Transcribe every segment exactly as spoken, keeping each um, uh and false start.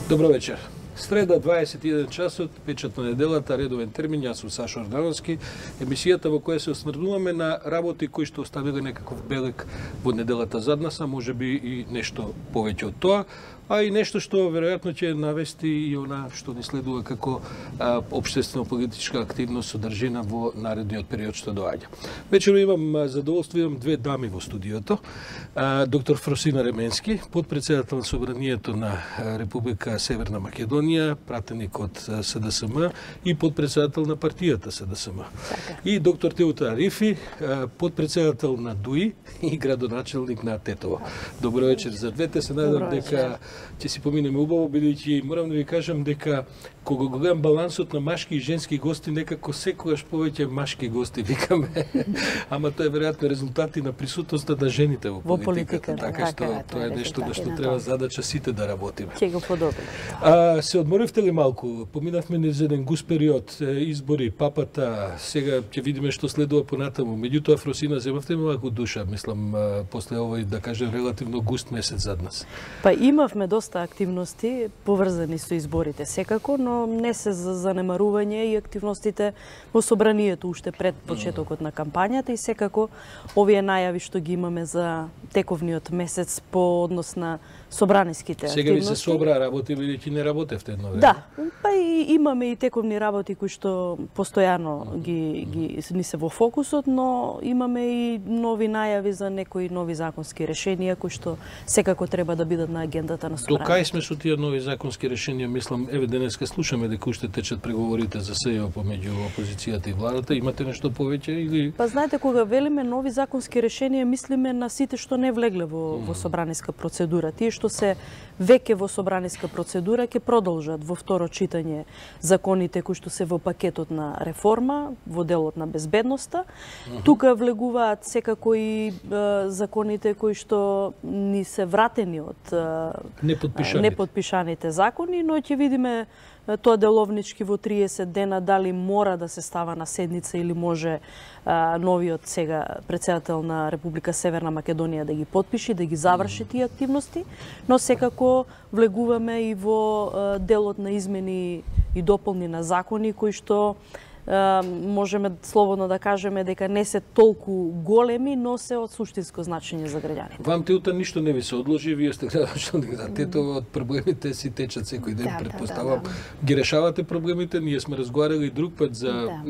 Добро вечер. Среда, дваесет и еден часот, печат на неделата, редовен термин, јас сум Сашо Ордановски, емисијата во која се осмрнуваме на работи кои што оставиле некаков белег во неделата зад нас, а може би и нешто повеќе од тоа, а и нешто што веројатно ќе навести и она што ни следува како општествено-политичка активност содржина во наредниот период што доаѓа. Вечерно имам задоволство, имам две дами во студиото. А, доктор Фросина Ременски, подпредседател на Собранието на Република Северна Македонија, пратеник од СДСМ и подпредседател на партијата СДСМ. Така. И доктор Теута Арифи, подпредседател на ДУИ и градоначелник на Тетово. Добро вечер за двете. Се надам дека ќе си поминеме убаво, бидејќи морам да ви кажам дека кога го гледам балансот на машки и женски гости, некако секогаш повеќе машки гости викаме. Ама тоа е веројатно резултати на присутноста на жените во политиката. Во политиката, така што така, тоа е нешто на што треба задача сите да работиме. Ќе го подобриме. А, се одморивте ли малку? Поминавме низ еден густ период, избори, папата, сега ќе видиме што следува понатаму. Меѓутоа, Фросина, земавте малку душа, мислам, после овој, да кажем, релативно густ месец зад нас. Па имавме доста активности поврзани со изборите секако, но не се за занемарување и активностите во собранието уште пред почетокот на кампањата и секако овие најави што ги имаме за тековниот месец по однос на собраниските Сега активности. ви се собра работи, бидејќи не работевте едно време. Да, па и имаме и тековни работи кои што постојано ги, ги ни се во фокусот, но имаме и нови најави за некои нови законски решенија кои што секако треба да бидат на агендата на собранието. До кај сме со тие нови законски решенија? Мислам, еве денеска слушаме дека уште течат преговорите за СЕО помеѓу опозицијата и владата. Имате нешто повеќе или? Па знаете, кога велиме нови законски решенија, мислиме на сите што не влегле во, во собраниска процедура. Тие што се веќе во собраниска процедура ќе продолжат во второ читање законите кои што се во пакетот на реформа, во делот на безбедноста. Uh-huh. Тука влегуваат секако и е, законите кои што ни се вратени од е, неподпишаните. неподпишаните закони, но ќе видиме тоа деловнички во триесет дена дали мора да се става на седница или може а, новиот сега председател на Република Северна Македонија да ги подпиши, да ги заврши тие активности, но секако влегуваме и во а, делот на измени и дополни на закони кои што можеме слободно да кажеме дека не се толку големи, но се од суштинско значење за граѓаните. Вам Теута ништо не ви се одложи, вие сте градоначелник на Тетово, од проблемите си течат секој ден, да, предпоставам. Да, да, да. Ги решавате проблемите, ние сме разговарали друг пат за да.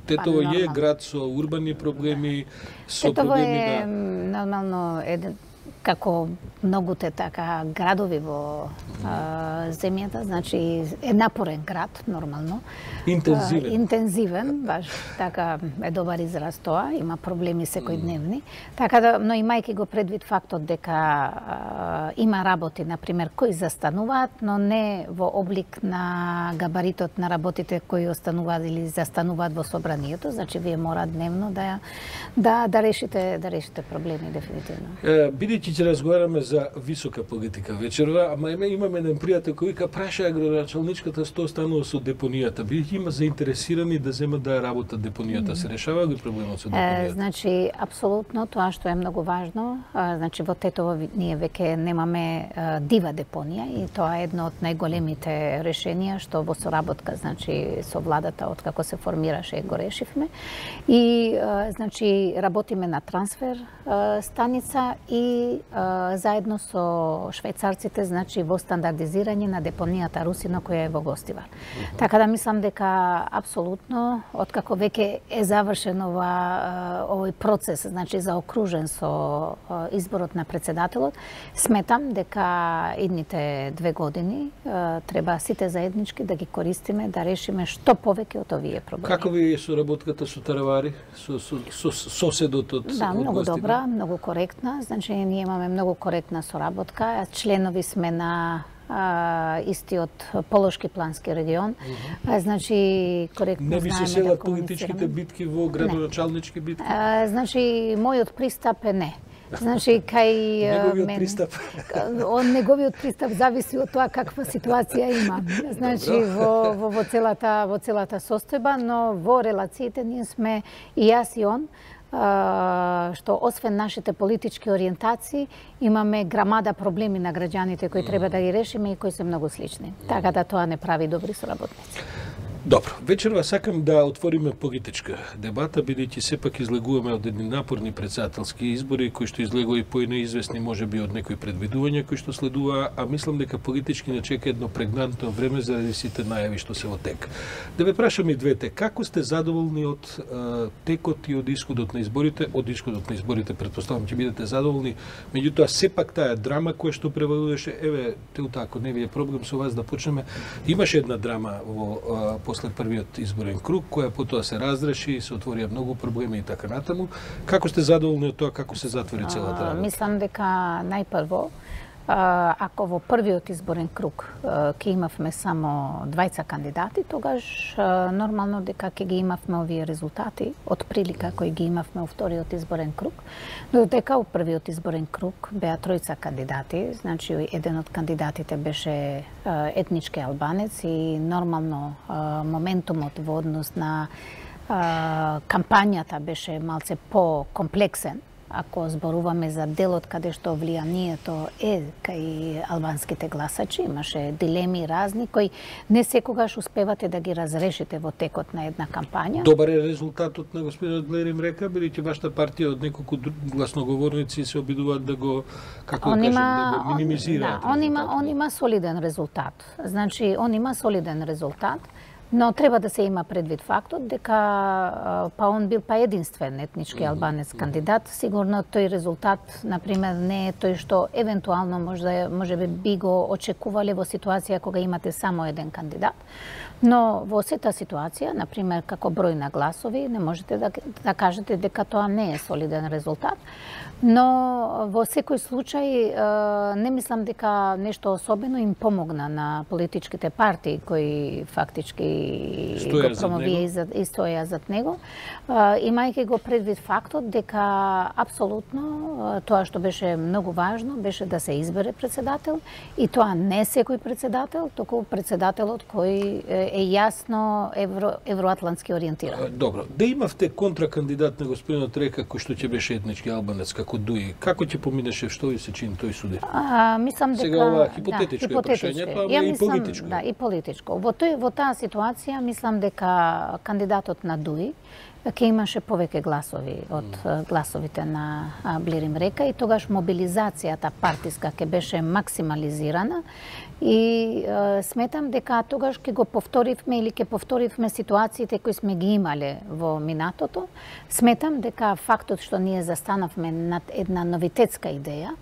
Тетово па, е град со урбани проблеми, да. со Тетово проблеми е, на нормално еден како многуте така градови во а, земјата, значи е напорен град нормално. Интензивен. А, интензивен, баш така е добар израз тоа, има проблеми секојдневни. Така да, но имајќи го предвид фактот дека а, има работи, на пример, кои застануваат, но не во облик на габаритот на работите кои остануваат или застануваат во собранието, значи вие мора дневно да да да решите да решите проблеми дефинитивно. Е, бидејќи ќе разговараме за висока политика вечерва, ама имаме еден пријател кој вика праша градоначалничката што станува со депонијата. Бидејќи има заинтересирани да земат да работат депонијата, се решава ли проблемот со депонијата? Е, значи апсолутно тоа што е многу важно, а, значи во Тетово ние веќе немаме а, дива депонија и тоа е едно од најголемите решенија што во соработка значи со владата од како се формираше го решивме. И а, значи работиме на трансфер а, станица и а, заедно со швајцарците, значи во стандардизирање на депонијата Русино која е во Гостивар. Uh-huh. Така да мислам дека апсолутно откако веќе е завршен ова овој процес, значи заокружен со изборот на председателот, сметам дека идните две години треба сите заеднички да ги користиме да решиме што повеќе од овие проблеми. Како ви е соработката со Таравари, со, со, со соседот од Да, од многу Гостивар? добра, многу коректна. Значи ние имаме многу коректна соработка. Членови сме на а, истиот Полошки плански регион. Uh-huh. А, значи коректно не ви се знаеме селат да политичките битки во градоначалнички битки? А, значи мојот пристап е не. Значи кај неговиот мен, пристап. Он неговиот пристап зависи од тоа каква ситуација има. Значи во, во во целата во целата состојба, но во релациите ние сме и јас и он што освен нашите политички ориентации, имаме грамада проблеми на граѓаните кои треба да ги решиме и кои се многу слични. Така да тоа не прави добри соработници. Добро, вечерва сакам да отвориме политичка дебата, бидејќи сепак излегуваме од едни напорни председателски избори, кои што излегува и поинеизвестни можеби од некои предвидувања кои што следува, а мислам дека политички не чека едно прегнантно време заради сите најави што се во тек. Да ве прашам и двете, како сте задоволни од а, текот и од исходот на изборите? Од исходот на изборите претпоставам ќе бидете задоволни, меѓутоа сепак таа драма која што превалуваше, еве, Теута, ако не ви е проблем со вас да почнеме, имаше една драма во а, после првиот изборен круг, која потоа се разреши, се отворија многу проблеми и така натаму. Како сте задоволни од тоа, како се затвори целата работа? Мислам дека најпрво, ако во првиот изборен круг ќе имавме само двајца кандидати, тогаш нормално дека ќе ги имавме овие резултати од прилика кои ги имавме во вториот изборен круг. Но дека во првиот изборен круг беа тројца кандидати, значи еден од кандидатите беше етнички албанец и нормално моментумот во однос на кампањата беше малце по-комплексен. Ако зборуваме за делот каде што влијанието е кај албанските гласачи, имаше дилеми разни кои не секогаш успевате да ги разрешите во текот на една кампања. Добар е резултатот на господинот Блерим Река, бидејќи вашата партија од неколку гласноговорници се обидуваат да го, како да кажем, да го минимизираат. Да, он има, он има солиден резултат. Значи, он има солиден резултат. Но треба да се има предвид фактот дека па он бил па единствен етнички албанец кандидат. Сигурно тој резултат, например, не е тој што евентуално може може би го очекувале во ситуација кога имате само еден кандидат. Но во сета ситуација, например, како број на гласови, не можете да, да кажете дека тоа не е солиден резултат. Но во секој случај не мислам дека нешто особено им помогна на политичките партии кои фактички стоја го промовија и, и стоја зад него, имајќи го предвид фактот дека апсолутно тоа што беше многу важно беше да се избере председател и тоа не секој председател, току председателот кој е јасно евро, евроатлантски ориентиран. Добро, да имавте контракандидат на господинот Река кој што ќе беше етнички албанец како Дуи, како ќе поминеше, што ви се чини тој суди? А, мислам дека сега ова хипотетичко да, е прашањето, ама и мислам, политичко. Да, и политичко. Во тој во таа ситуација мислам дека кандидатот на Дуи ќе имаше повеќе гласови од гласовите на Блерим Река и тогаш мобилизацијата партиска ќе беше максимализирана и е, сметам дека тогаш ќе го повторивме или ќе повторивме ситуациите кои сме ги имале во минатото. Сметам дека фактот што ние застанавме над една новитетска идеја,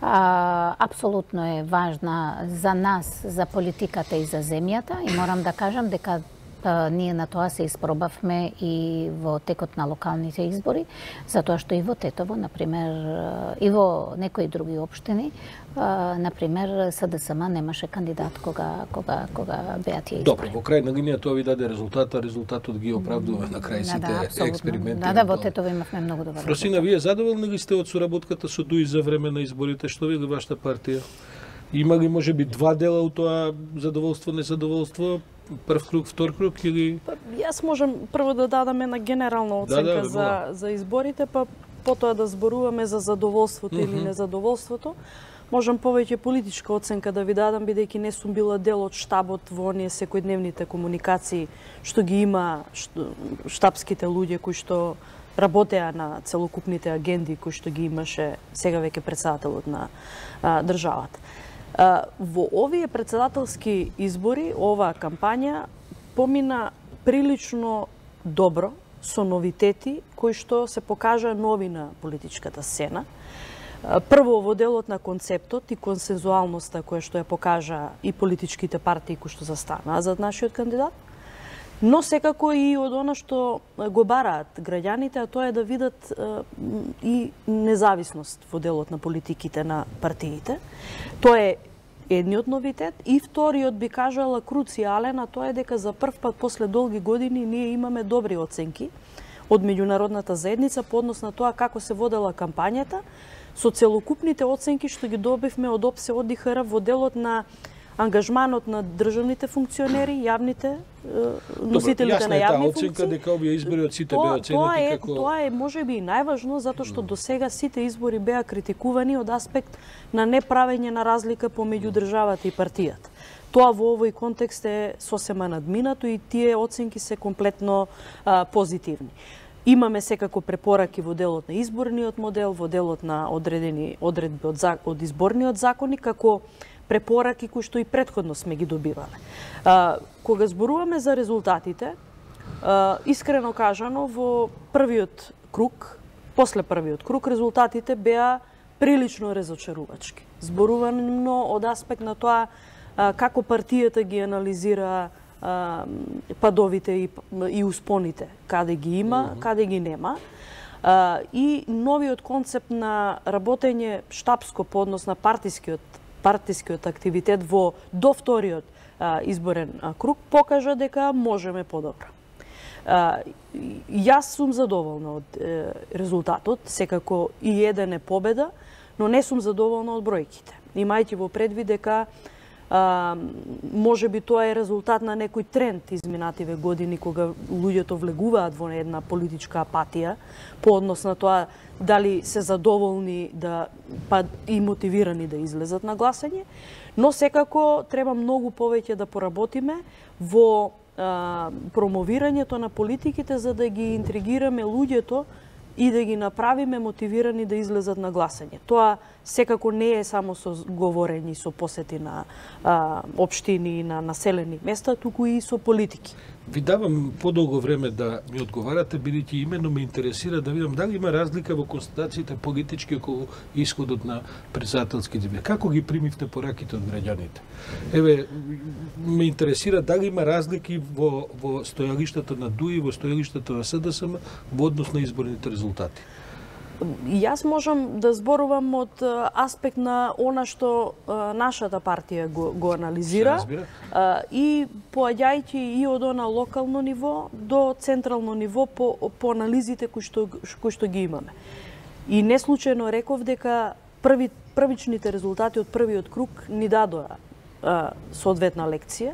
А, апсолутно е важна за нас, за политиката и за земјата и морам да кажам дека а, ние на тоа се испробавме и во текот на локалните избори, затоа што и во Тетово, например, и во некои други општини, а, например, СДСМ немаше кандидат кога кога кога беа тие избори. Добро, во крај на линија тоа ви даде резултата, резултатот ги оправдува на крај сите да, да, експерименти. Да, да, во Тетово имавме многу добар. Фросина, вие задоволни ли сте од соработката со Дуи за време на изборите? Што ви вашата партија? Има ли можеби два дела у тоа задоволство, незадоволство? Прв круг, втор круг или... Па, јас можам прво да дадам една генерална оценка да, да, за, за изборите, па потоа да зборуваме за задоволството mm -hmm. или незадоволството. Можам повеќе политичка оценка да ви дадам, бидејќи не сум била дел од штабот во оние секојдневните комуникации што ги има штабските луѓе кои што работеа на целокупните агенди кои што ги имаше сега веќе председателот на а, државата. А, во овие председателски избори, оваа кампања помина прилично добро со новитети кои што се покажа нови на политичката сцена. Прво во делот на концептот и консензуалноста која што ја покажа и политичките партии кои што застанаа зад нашиот кандидат, но секако и од она што го бараат граѓаните, а тоа е да видат и независност во делот на политиките на партиите. Тоа е едниот новитет и вториот би кажала круцијален, а тоа е дека за прв пат после долги години ние имаме добри оценки од меѓународната заедница по однос на тоа како се водела кампањата, со целокупните оценки што ги добивме од ОПСЕ од ИХР во делот на ангажманот на државните функционери, јавните носителите на јавни функции. Оценка дека овие избори од сите беа оценети како... Тоа е можеби и најважно, затоа што до сега сите избори беа критикувани од аспект на неправење на разлика помеѓу државата и партијата. Тоа во овој контекст е сосема надминато и тие оценки се комплетно а, позитивни. Имаме секако препораки во делот на изборниот модел, во делот на одредени одредби од, од изборниот законник, како препораки кои што и претходно сме ги добивале. А, кога зборуваме за резултатите, а, искрено кажано, во првиот круг, после првиот круг, резултатите беа прилично разочарувачки. Зборувано од аспект на тоа а, како партијата ги анализира а, падовите и, и успоните, каде ги има, mm -hmm. каде ги нема. А, и новиот концепт на работење штабско по однос на партискиот партискиот активитет во до вториот а, изборен а, круг покажа дека можеме подобро. А, јас сум задоволна од е, резултатот, секако и еден е победа, но не сум задоволна од бројките. Имајќи во предвид дека а, може би тоа е резултат на некој тренд изминативе години кога луѓето влегуваат во една политичка апатија по однос на тоа дали се задоволни да па и мотивирани да излезат на гласање, но секако треба многу повеќе да поработиме во а, промовирањето на политиките за да ги интригираме луѓето и да ги направиме мотивирани да излезат на гласање. Тоа секако не е само со говорење, со посети на а, општини и на населени места, туку и со политики. Ви давам подолго време да ми одговарате, бидејќи имено ме интересира да видам дали има разлика во констатациите политички околу исходот на претседателските избори. Како ги примивте пораките од граѓаните? Еве, ме интересира дали има разлики во, во стојалиштата на ДУИ, во стојалиштата на СДСМ во однос на изборните резултати. Јас можам да зборувам од аспект на она што а, нашата партија го, го анализира а, и поаѓајќи и од она локално ниво до централно ниво по, по анализите кои што, кои што ги имаме. И не случајно реков дека први, првичните резултати од првиот круг ни дадоа а, соодветна лекција.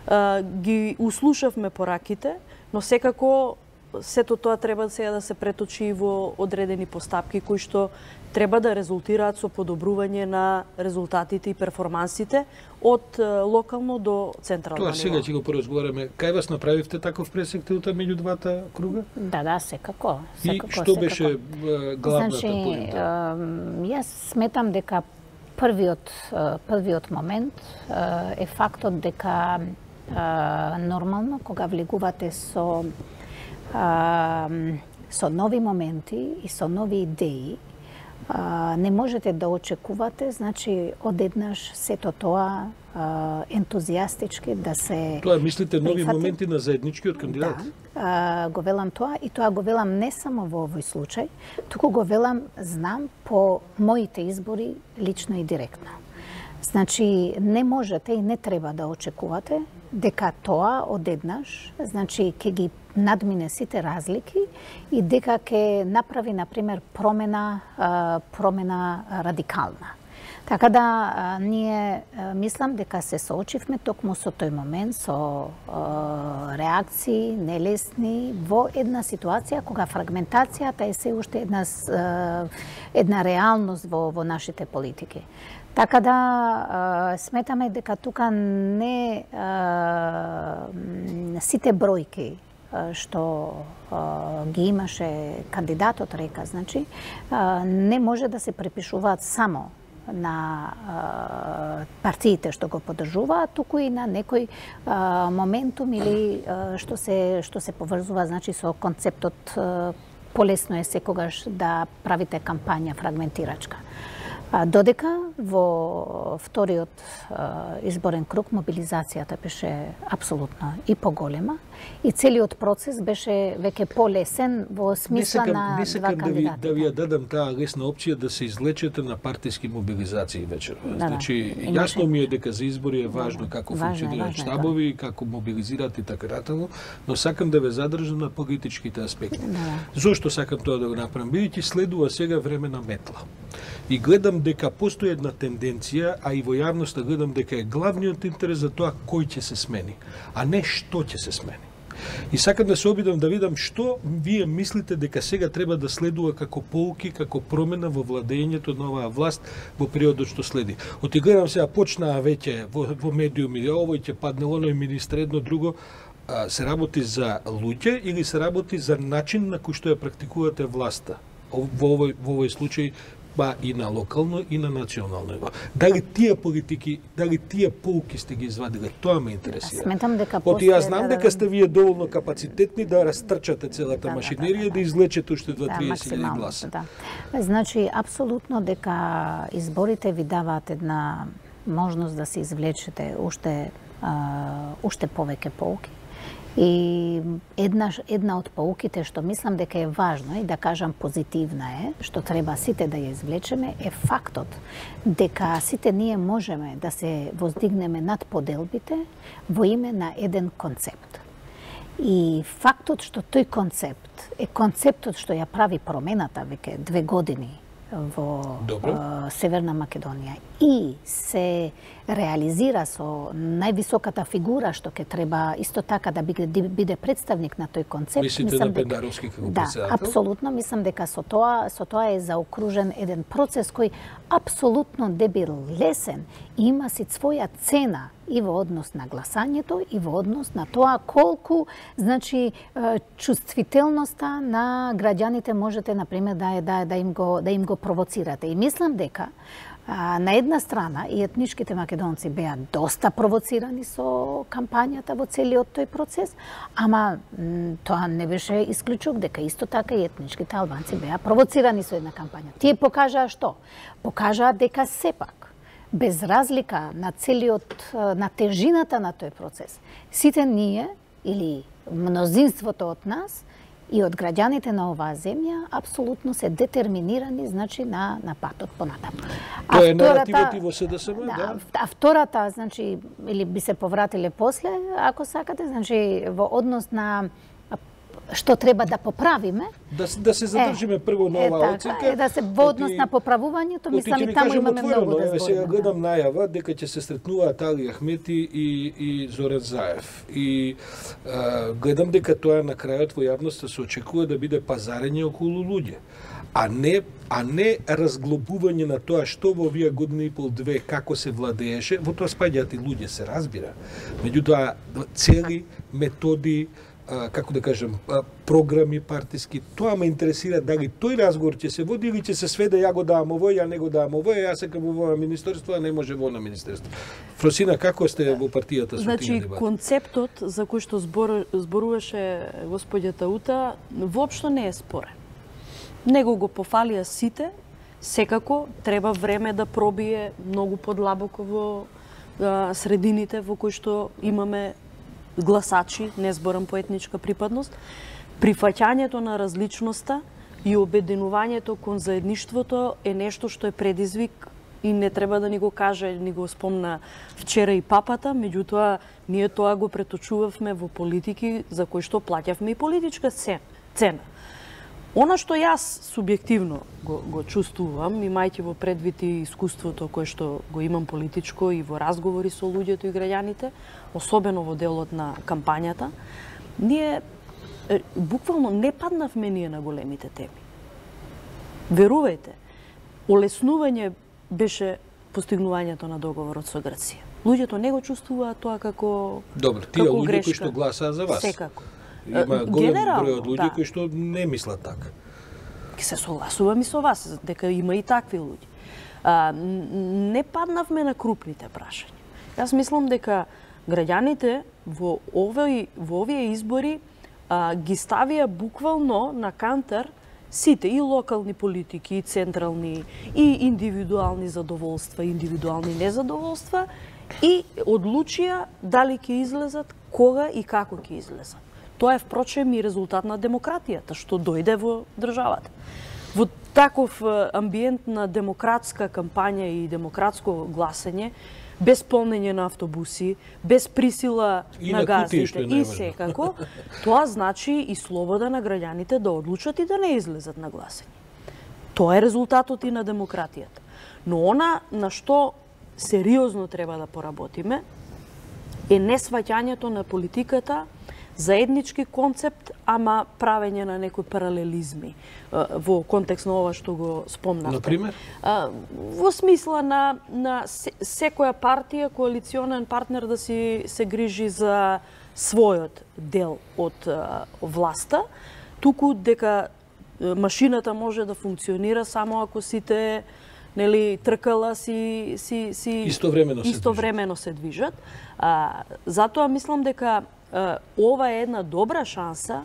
А, ги услушавме пораките, но секако сето тоа треба сега да се преточи во одредени постапки кои што треба да резултираат со подобрување на резултатите и перформансите од локално до централно Тоа ниво. сега ќе го поразговараме. Кај вас направивте таков пресек меѓу двата круга? Да, да, секако. секако И што секако. беше главната значи, поинта? Јас сметам дека првиот првиот момент е фактот дека нормално кога влегувате со А, со нови моменти и со нови идеи а, не можете да очекувате, значи одеднаш сето тоа а, ентузијастички да се Тоа мислите нови прифати. моменти на заедничкиот кандидат? Да, а, го велам тоа и тоа го велам не само во овој случај, туку го велам знам по моите избори лично и директно. Значи не можете и не треба да очекувате дека тоа одеднаш, значи ќе ги надмине сите разлики и дека ќе направи на пример промена промена радикална. Така да ние мислам дека се соочивме токму со тој момент со реакции нелесни во една ситуација кога фрагментацијата е се уште една една реалност во во нашите политики. Така да а, сметаме дека тука не а, сите бројки а, што а, ги имаше кандидатот река, значи а, не може да се препишуваат само на а, партиите што го поддржуваат, туку и на некој а, моментум или а, што се што се поврзува значи со концептот а, полесно е секогаш да правите кампања фрагментирачка. Додека во вториот изборен круг мобилизацијата беше апсолутно и поголема и целиот процес беше веќе полесен во смисла не на не два да ви, кандидати. да ви ја дадам таа лесна опција да се излечете на партиски мобилизации вечер. Да, Значи, да. јасно ми е дека за избори е важно да, како важно, функционираат важно, штабови, да. како мобилизираат и така натаму, но сакам да ве задржам на политичките аспекти. Да. Зошто сакам тоа да го направам? Бидејќи следува сега време на метла. И гледам гледам дека постои една тенденција, а и во јавноста гледам дека е главниот интерес за тоа кој ќе се смени, а не што ќе се смени. И сакам да се обидам да видам што вие мислите дека сега треба да следува како поуки, како промена во владењето на оваа власт во периодот што следи. Оти гледам сега почнаа веќе во, во медиуми, овој ќе падне, оној министр, едно друго. А, се работи за луѓе или се работи за начин на кој што ја практикувате власта? Во овој, во овој случај, па и на локално и на национално ниво. Дали тие политики, дали тие поуки сте ги извадиле, тоа ме интересира. Сметам дека Оти јас знам дека сте вие доволно капацитетни да растрчате целата да, машинерија и да, да, да, излечете уште два да, триесет илјади гласа. Да. Значи, апсолутно дека изборите ви даваат една можност да се извлечете уште а, уште повеќе поуки. И една, една од поуките што мислам дека е важно и да кажам позитивна е, што треба сите да ја извлечеме, е фактот дека сите ние можеме да се воздигнеме над поделбите во име на еден концепт. И фактот што тој концепт е концептот што ја прави промената веќе две години во uh, Северна Македонија и се реализира со највисоката фигура што ќе треба исто така да биде, биде представник на тој концепт. Мислите мислам на дека, Пендаровски како да, председател? апсолутно мислам дека со тоа со тоа е заокружен еден процес кој апсолутно не бил лесен и има си своја цена и во однос на гласањето и во однос на тоа колку, значи, чувствителноста на граѓаните можете на пример да да да им го да им го провоцирате. И мислам дека а, на една страна и етничките македонци беа доста провоцирани со кампањата во целиот тој процес, ама тоа не беше исклучок дека исто така и етничките албанци беа провоцирани со една кампања. Тие покажаа што? Покажаа дека сепак без разлика на целиот, на тежината на тој процес, сите ние, или мнозинството од нас, и од граѓаните на оваа земја, апсолутно се детерминирани, значи, на, на патот понатаму. Тоа е наративот и во СДСМ, да? Да, а втората, значи, или би се повратиле после, ако сакате, значи, во однос на што треба да поправиме. Да, да се задржиме е, прво на оваа оценка. Е, да се во однос на поправувањето, мислам и таму имаме отворено, многу да збориме. Сега гледам најава дека ќе се сретнуваат Али Ахмети и, и Зоран Заев. И а, гледам дека тоа на крајот во јавноста се очекува да биде пазарење околу луѓе. А не, а не разглобување на тоа што во овие години и пол две како се владееше, во тоа спаѓаат и луѓе, се разбира. Меѓутоа, цели, методи, А, како да кажем, а, програми партиски, тоа ме интересира дали тој разговор ќе се води или ќе се сведе ја го давам овој, ја не го давам овој, јас сакам во министерство, а не може во на министерство. Фросина, како сте во партијата со значи, тие дебати? Концептот за кој што збор, зборуваше господјата Ута, воопшто не е спорен. Него го пофалија сите, секако треба време да пробие многу подлабоко во а, средините во кои што имаме гласачи, не зборам по етничка припадност, прифаќањето на различноста и обединувањето кон заедништвото е нешто што е предизвик и не треба да ни го каже, ни го спомна вчера и папата, меѓутоа ние тоа го преточувавме во политики за кои што плаќавме и политичка цена. Она што јас субјективно го, го чувствувам, имајќи во предвид и искуството кое што го имам политичко и во разговори со луѓето и граѓаните, особено во делот на кампањата, ние е, буквално не паднавме ние на големите теми. Верувајте, олеснување беше постигнувањето на договорот со Грција. Луѓето не го чувствуваат тоа како Добро, тие како луѓе грешка. кои што гласаа за вас. Секако. Има голем број од луѓе да. кои што не мислат така. Ке се согласувам и со вас, дека има и такви луѓе. А, не паднавме на крупните прашања. Јас мислам дека граѓаните во овој во овие избори а, ги ставија буквално на кантар сите и локални политики, и централни, и индивидуални задоволства, и индивидуални незадоволства и одлучија дали ќе излезат, кога и како ќе излезат. Тоа е впрочем и резултат на демократијата што дојде во државата. Во таков амбиент на демократска кампања и демократско гласање, без полнење на автобуси, без присила и на, на кутии, газдите и секако, тоа значи и слобода на граѓаните да одлучат и да не излезат на гласање. Тоа е резултатот и на демократијата. Но она на што сериозно треба да поработиме е несваќањето на политиката заеднички концепт, ама правење на некои паралелизми во контекст на ова што го спомнавте. Например? Во смисла на, на секоја партија, коалиционен партнер да си се грижи за својот дел од власта, туку дека машината може да функционира само ако сите нели тркала си си си истовремено се истовремено се движат. А, затоа мислам дека а, ова е една добра шанса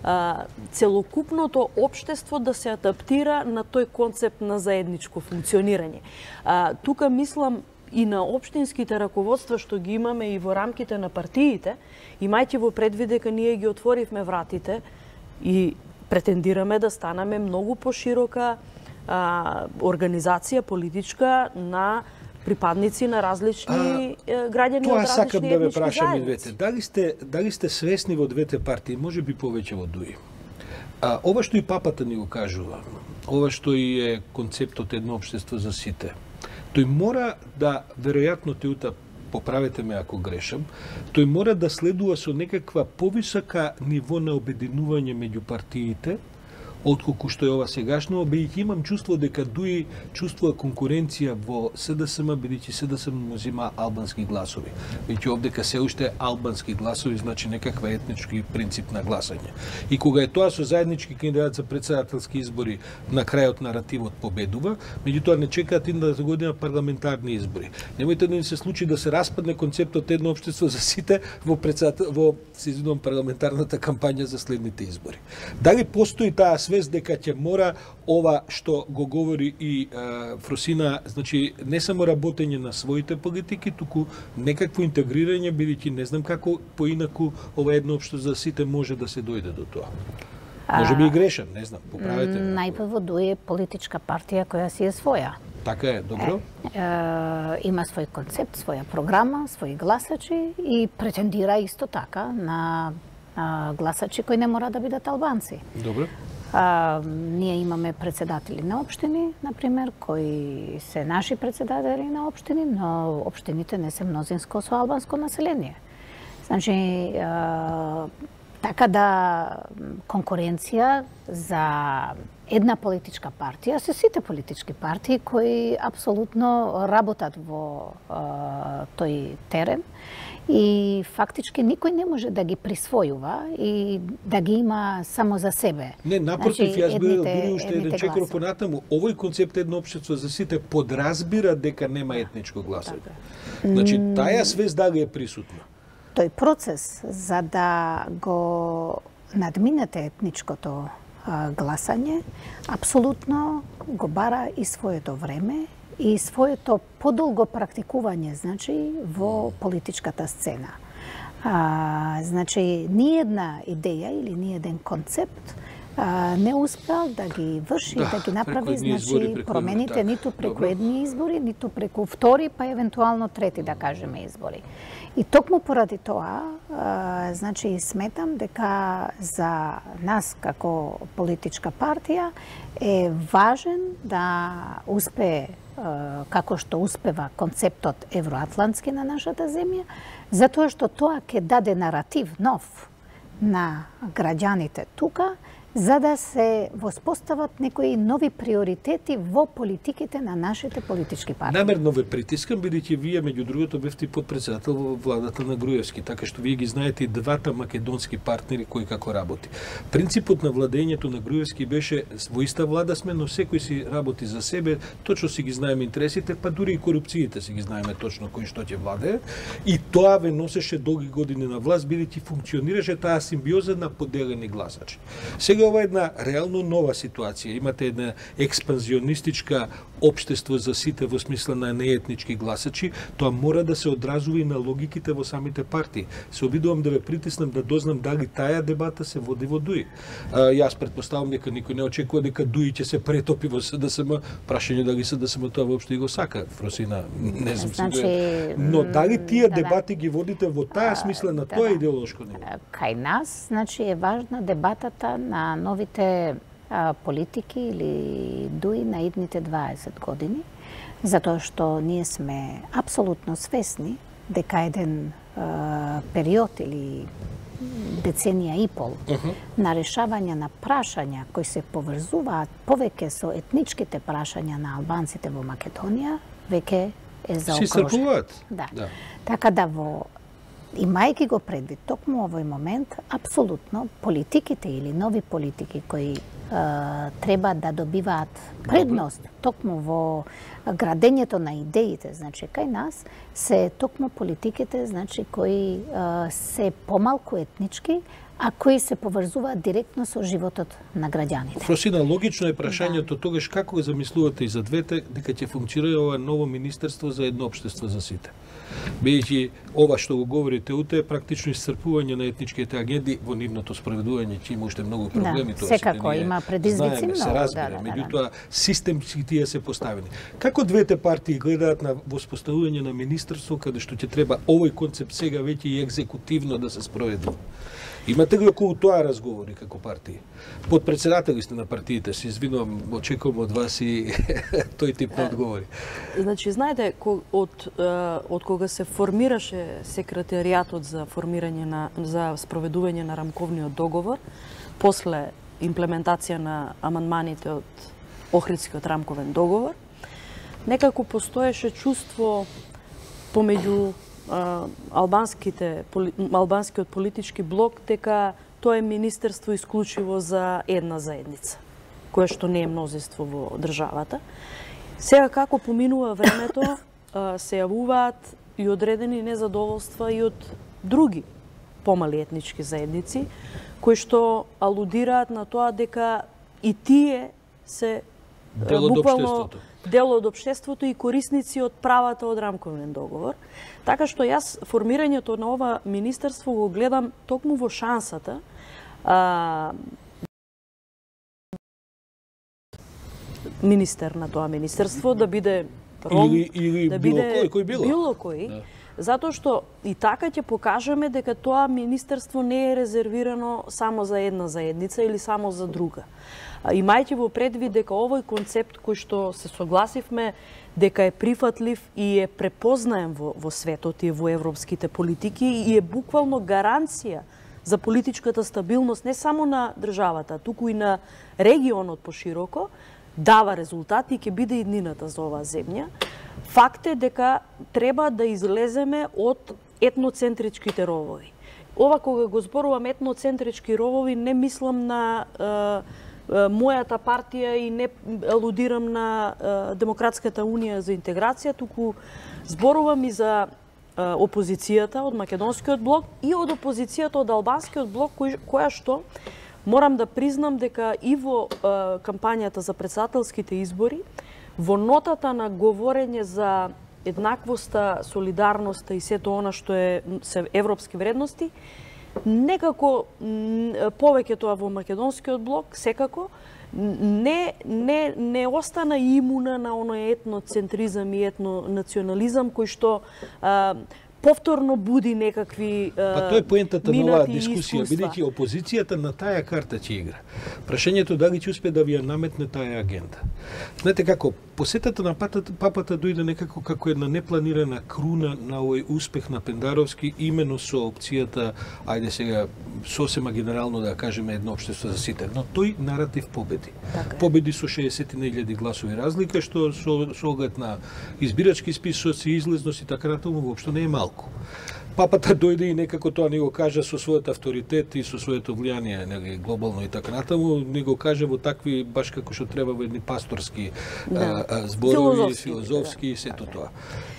а, целокупното општество да се адаптира на тој концепт на заедничко функционирање. А, тука мислам и на општинските раководства што ги имаме и во рамките на партиите, имајќи во предвид дека ние ги отворивме вратите и претендираме да станаме многу поширока а, организација политичка на припадници на различни а, граѓани од различни етнички заедници. Тоа сакам да ве прашам и двете. Дали сте, дали сте свесни во двете партии, може би повеќе во ДУИ? А, ова што и папата ни го кажува, ова што и е концептот едно општество за сите, тој мора да, веројатно теута, поправете ме ако грешам, тој мора да следува со некаква повисока ниво на обединување меѓу партиите, отколку што е ова сегашно, бидејќи имам чувство дека ДУИ чувствува конкуренција во СДСМ, бидејќи СДСМ му зема албански гласови. Бидејќи овдека се уште албански гласови, значи некаква етнички принцип на гласање. И кога е тоа со заеднички кандидат за претседателски избори, на крајот наративот победува, меѓутоа не чекаат идната година парламентарни избори. Немојте да ни се случи да се распадне концептот едно општество за сите во председател во се извинувам парламентарната кампања за следните избори. Дали постои таа свест дека ќе мора ова што го говори и е, Фросина, значи не само работење на своите политики, туку некакво интегрирање, бидејќи не знам како поинаку ова едно општо за сите може да се дојде до тоа. Може би и грешам, не знам, поправете ме. Најпрво ДУИ е политичка партија која си е своја. Така е, добро. Е, е, има свој концепт, своја програма, своји гласачи и претендира исто така на а, гласачи кои не мора да бидат албанци. Добро. А, ние имаме председатели на општини, например, кои се наши председатели на општини, но општините не се мнозинско со албанско население. Значи, а, така да конкуренција за една политичка партија се сите политички партии кои апсолутно работат во а, тој терен и фактички никој не може да ги присвојува и да ги има само за себе. Не, напротив, значи, јас би дури уште еден чекор понатаму. Овој концепт едно општество за сите подразбира дека нема етничко гласање. Значи, таа свест дали е присутна? Тој процес за да го надминете етничкото а, гласање, апсолутно го бара и своето време и своето подолго практикување, значи, во политичката сцена. А, значи, ни една идеја или ни еден концепт а, не успеал да ги врши, да, да ги направи, значи, избори, промените така. Ниту преку Добро. Едни избори, ниту преку втори, па евентуално трети, да кажеме, избори. И токму поради тоа, а, значи, сметам дека за нас како политичка партија е важен да успее како што успева концептот евроатлантски на нашата земја, затоа што тоа ќе даде наратив нов на граѓаните тука, за да се воспостават некои нови приоритети во политиките на нашите политички партии. Намерно ве притискам, бидејќи вие меѓу другото бевте подпредседател во владата на Груевски, така што вие ги знаете и двата македонски партнери кои како работи. Принципот на владењето на Груевски беше во иста влада сме, но секој си работи за себе, точно си ги знаеме интересите, па дури и корупциите си ги знаеме точно кој што ќе владее, и тоа ве носеше долги години на власт, бидејќи функционираше таа симбиоза на поделени гласачи. Сега ова е една реално нова ситуација. Имате една експанзионистичка општество за сите во смисла на неетнички гласачи, тоа мора да се одразува и на логиките во самите партии. Се обидувам да ве притиснам да дознам дали таа дебата се води во ДУИ. А, јас претпоставам дека никој не очекува дека ДУИ ќе се претопи во СДСМ, прашање дали СДСМ тоа воопшто и го сака. Фросина, не знам значи, си. Но дали тие да, дебати ги водите во таа смисла на да, тоа да. идеолошко ниво? Кај нас, значи, е важна дебатата на новите а, политики или ДУИ на идните дваесет години. Затоа што ние сме апсолутно свесни дека еден е, период или деценија и пол uh -huh. на решавање на прашања кои се поврзуваат повеќе со етничките прашања на албанците во Македонија, веќе е заокружен. Да. да. Така да во имајќи го предвид токму овој момент, апсолутно политиките или нови политики кои е, треба да добиваат предност токму во градењето на идеите, значи кај нас се токму политиките, значи кои е, се помалку етнички, а кои се поврзуваат директно со животот на граѓаните. Фросина, логично е прашањето да. Тогаш како го замислувате и за двете дека ќе функционира ова ново министерство за едно општество за сите? Бидејќи ова што го говорите уте е практично исцрпување на етничките агенди во нивното спроведување, ќе има уште многу проблеми, да, тоа секако има предизвици многу, се разбира, да, да, меѓутоа да, да. Системски тие се поставени. Како двете партии гледаат на воспоставување на министерство каде што ќе треба овој концепт сега веќе и екзекутивно да се спроведе? Имате ли околу тоа разговори како партии? Подпредседатели сте на партиите, се извинувам, очекувам од вас и тој тип на одговори. Значи, знаете, од, од кога се формираше секретаријатот за формирање на за спроведување на рамковниот договор, после имплементација на амандманите од Охридскиот рамковен договор, некако постоеше чувство помеѓу албанските албанскиот политички блок дека тоа е министерство исклучиво за една заедница, кое што не е мнозинство во државата. Сега како поминува времето, се јавуваат и одредени незадоволства и од други помали етнички заедници, кои што алудираат на тоа дека и тие се дел од општеството. Дел од општеството и корисници од правата од рамковен договор. Така што јас формирањето на ова министерство го гледам токму во шансата а, министер на тоа министерство да биде ром, или, или да биде биде било кој, кој било. било кој, да. Затоа што и така ќе покажеме дека тоа министерство не е резервирано само за една заедница или само за друга. Имајќи во предвид дека овој концепт кој што се согласивме дека е прифатлив и е препознаен во, во светот и во европските политики и е буквално гаранција за политичката стабилност не само на државата, туку и на регионот пошироко, дава резултати и ќе биде иднината за оваа земја. Факт е дека треба да излеземе од етноцентричките ровови. Ова кога го зборувам етноцентрички ровови, не мислам на е, мојата партија и не алудирам на е, Демократската унија за интеграција, туку зборувам и за е, опозицијата од Македонскиот блок и од опозицијата од Албанскиот блок, кој, која што морам да признам дека и во е, кампањата за претседателските избори, во нотата на говорење за еднаквоста, солидарноста и сето она што е се европски вредности, некако повеќе тоа во Македонскиот блок, секако, не, не, не остана имуна на оној етноцентризам и етнонационализам кој што а, повторно буди некакви а, Па тоа е поентата на оваа дискусија, бидејќи опозицијата на таа карта ќе игра. Прашањето дали ќе успее да ви ја наметне таа агенда. Знаете како, посетата на папата, папата дојде некако како една непланирана круна на овој успех на Пендаровски, именно со опцијата, ајде сега сосема генерално да кажеме едно општество за сите, но тој наратив победи. Така победи со шеесет илјади гласови разлика, што со, со оглед на избирачки списоци, излезност и така натаму воопшто не е малку. Папата дојде и некако тоа не го кажа со својот авторитет и со своето влијание, нели, глобално и така натаму, не го кажа во такви баш како што треба во едни пасторски да. а, а, зборови, филозофски, филозофски да. И сето тоа.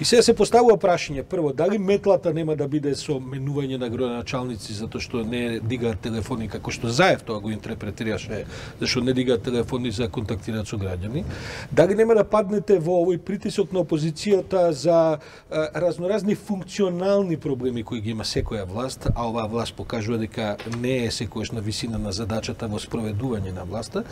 И сега се поставува прашање, прво, дали метлата нема да биде со менување на градоначалници затоа што не дигаат телефони како што Заев тоа го интерпретираше, зашто не дигаат телефони за контактираат со граѓани. Дали нема да паднете во овој притисок на опозицијата за а, разноразни функционални проблеми кои ги има секоја власт, а оваа власт покажува дека не е секојаш на висина на задачата во спроведување на власта,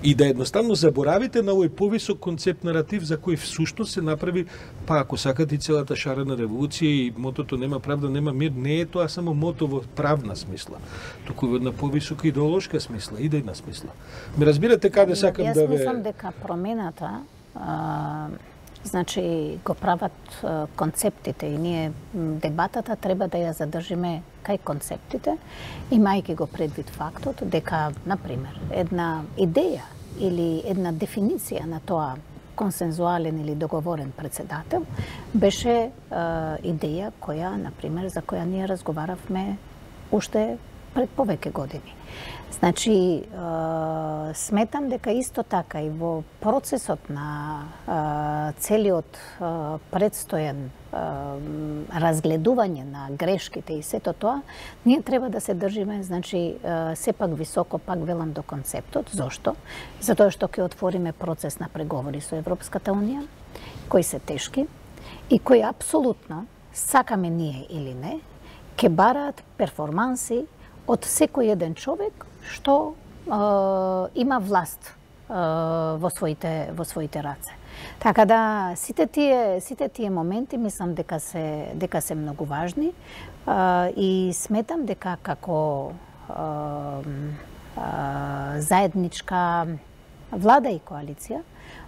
и да едноставно заборавите на овој повисок концепт наратив за кој всушност се направи, па ако сакате и целата шарена револуција и мотото нема правда, нема мир, не е тоа само мото во правна смисла, туку во една повисока идеолошка смисла, идејна смисла. Ме разбирате каде сакам Јас да ве... Јас мислам дека промената а, значи го прават концептите и ние дебатата треба да ја задржиме кај концептите, имајќи го предвид фактот дека, например, една идеја или една дефиниција на тоа консензуален или договорен председател беше е, идеја која, например, за која ние разговаравме уште пред повеќе години. Значи, е, сметам дека исто така и во процесот на е, целиот е, предстоен е, разгледување на грешките и сето тоа, ние треба да се држиме, значи, е, сепак високо, пак велам, до концептот. Зошто? Затоа што ќе отвориме процес на преговори со Европската Унија, кои се тешки и кои апсолутно, сакаме ние или не, ќе бараат перформанси од секој еден човек што е, има власт е, во своите во своите раце. Така да сите тие сите тие моменти мислам дека се дека се многу важни е, и сметам дека како е, е, заедничка влада и коалиција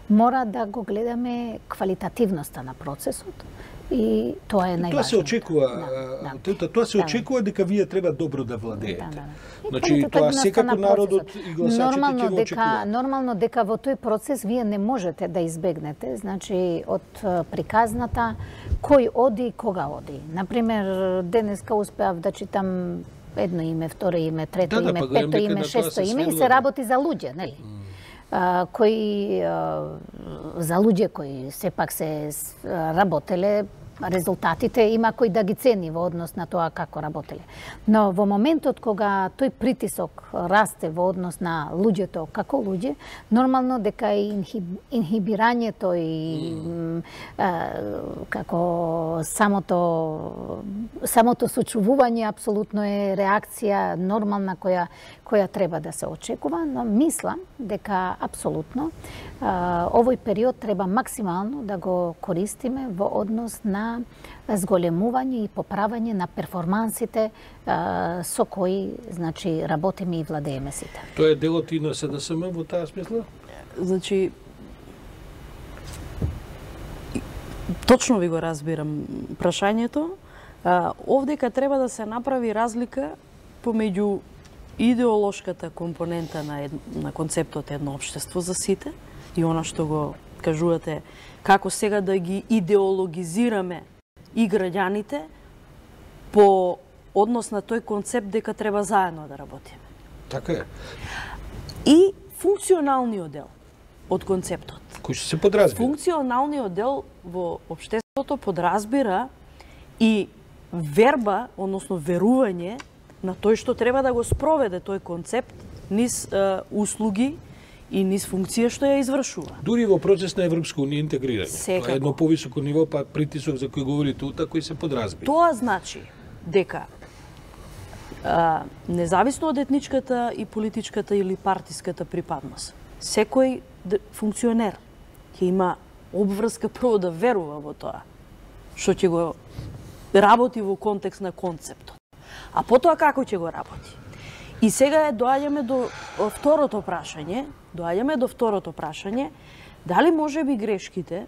мора да го гледаме квалитативноста на процесот. И тоа е најважно. Тоа се очекува, да, да. тоа се очекува дека вие треба добро да владеете. Да, да. Значи тоа секако народот и гласачите ќе го очекуваат. Нормално дека во тој процес вие не можете да избегнете, значи од приказната кој оди и кога оди. Например, денеска успеав да читам едно име, второ име, трето да, име, да, пето име, шесто име и се работи за луѓе, нели? Uh, кои uh, за луѓе кои сепак се работеле, резултатите има кој да ги цени во однос на тоа како работеле. Но во моментот кога тој притисок расте во однос на луѓето како луѓе, нормално дека и инхибирањето и mm. а, како самото самото сочувување апсолутно е реакција нормална која која треба да се очекува, но мислам дека апсолутно а, овој период треба максимално да го користиме во однос на зголемување и поправање на перформансите а, со кои, значи, работиме и владееме сите. Тоа е делот и на СДСМ во таа смисла? Значи, точно ви го разбирам прашањето. Овдека треба да се направи разлика помеѓу идеолошката компонента на, ед... на концептот едно општество за сите и она што го кажувате, како сега да ги идеологизираме и граѓаните по однос на тој концепт дека треба заедно да работиме. Така е. И функционалниот дел од концептот. Кој што се подразбира? Функционалниот дел во општеството подразбира и верба, односно верување на тој што треба да го спроведе тој концепт низ е, услуги и низ функција што ја извршува. Дури во процес на Европска унија интегрирање. Секако. Тоа е едно повисоко ниво, па притисок за кој говорите ута, кој се подразбира. Тоа значи дека а, независно од етничката и политичката или партиската припадност, секој функционер ќе има обврска прво да верува во тоа што ќе го работи во контекст на концептот. А потоа како ќе го работи? И сега доаѓаме до второто прашање, доаѓаме до второто прашање, дали можеби грешките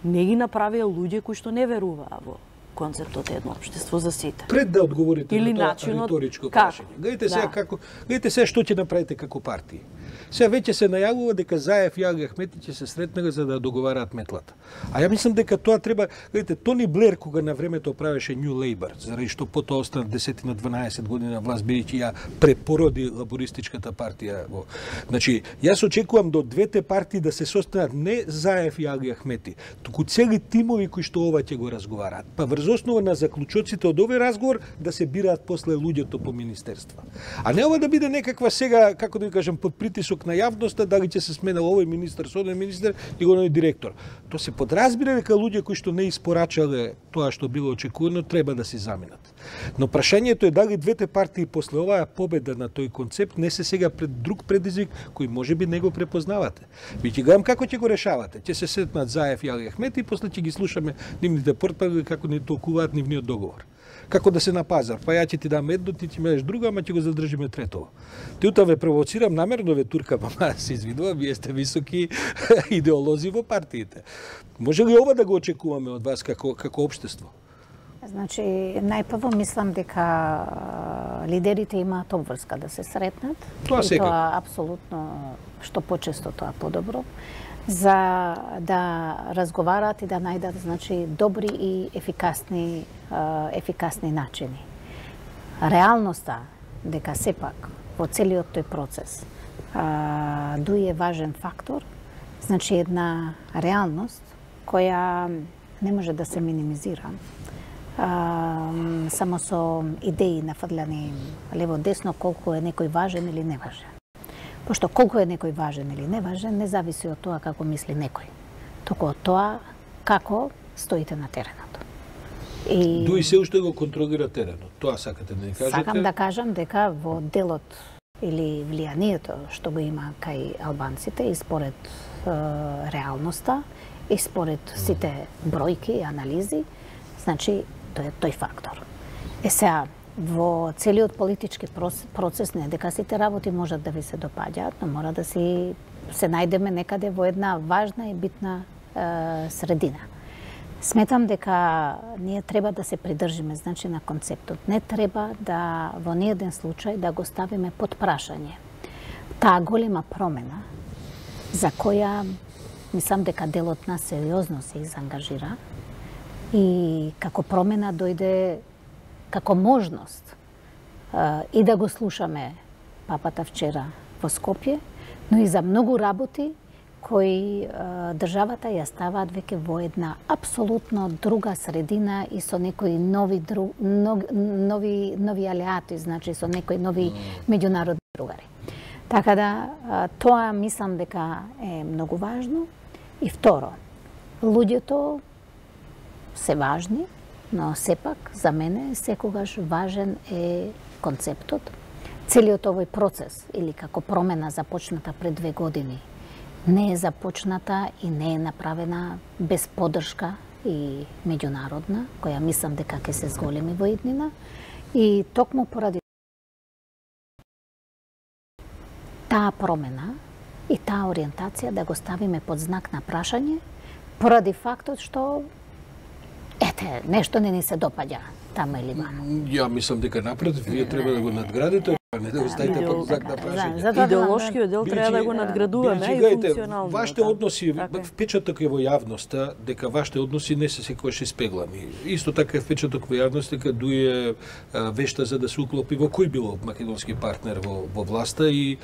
не ги направија луѓе кои што не веруваа во концептот едно општество за сите. Пред да одговорите или на тоа начинот, риторичко како? прашање. Гледате сега да. како, гледате сега што ќе направите како партија. Сега веќе се најавува дека Заев и Аги Ахмети ќе се сретнаа за да договараат метлата. А ја мислам дека тоа треба, гледате, Тони Блер кога на времето правеше New Labour, заради што потоа остана десет на дванаесет години на власт бидејќи ја препороди лабористичката партија во. Значи, јас очекувам до двете партии да се состанат не Заев и Аги Ахмети, туку цели тимови кои што ова ќе го разговараат. Па врз основа на заклучоците од овој разговор да се бираат после луѓето по министерства. А не ова да биде некаква сега, како да ви кажам, под притисок на јавноста, дали ќе се сменал овој министер, со оден министер и го директор. Тоа се подразбира дека луѓе кои што не испорачале тоа што било очекувано треба да се заминат. Но прашањето е дали двете партии после оваа победа на тој концепт не се сега пред друг предизвик кој можеби не го препознавате. Ви ќе гледам како ќе го решавате. Ќе се сетнат Заев и Али Ахмети и после ќе ги слушаме нивните портпароли како ни толкуваат нивниот договор. Како да се на пазар, па ја ќе ти дам едно, ти ќе имаш друго, ама ќе го задржиме третово. Тиута ве провоцирам намерно, ве турка, мама се извинувам, вие сте високи идеолози во партиите. Може ли ова да го очекуваме од вас како како општество? Значи, најпрво мислам дека лидерите имаат обврска да се сретнат. Тоа и секако. тоа апсолутно, што почесто тоа подобро, за да разговараат и да најдат, значи, добри и ефикасни ефикасни начини. Реалноста дека сепак во целиот тој процес дуи е важен фактор, значи една реалност која не може да се минимизира. Uh, само со идеи нафрляни лево-десно колку е некој важен или неважен. Пошто колку е некој важен или неважен не зависи од тоа како мисли некој, туку од тоа како стоите на теренот. И дуи се уште го контролира теренот. Тоа сакате да ни кажете? Сакам да кажам дека во делот или влијанието што го има кај албанците и според е, реалноста и според сите бројки и анализи, значи тој е тој фактор. Е сега, во целиот политички процес не дека сите работи можат да ви се допаѓаат, но мора да си се најдеме некаде во една важна и битна е, средина. Сметам дека ние треба да се придржиме, значи, на концептот. Не треба да во ниеден случај да го ставиме под прашање таа голема промена за која мислам дека делот нас сериозно се изангажира и како промена дојде како можност и да го слушаме папата вчера во Скопје, но и за многу работи кои државата ја ставаат веќе во една апсолутно друга средина и со некои нови дру, нови нови алиати, значи со некои нови меѓународни другари. Така да тоа мислам дека е многу важно. И второ, луѓето се важни, но сепак за мене секогаш важен е концептот. Целиот овој процес или како промена започната пред две години не е започната и не е направена без поддршка и меѓународна, која мислам дека ќе се зголеми во иднина, и токму поради таа промена и таа ориентација да го ставиме под знак на прашање, поради фактот што ете, нешто не ни се допаѓа таму или ваму. Ја мислам дека напротив, вие треба да го надградите, а не да го ставите под знак на прашање. Идеолошкиот дел треба да го надградуваме и функционално. Вашите односи, впечаток е во јавноста дека вашите односи не се секогаш испеглани. Исто така е впечаток во јавноста дека дуе вешта за да се уклопи во кој било македонски партнер во, во власта и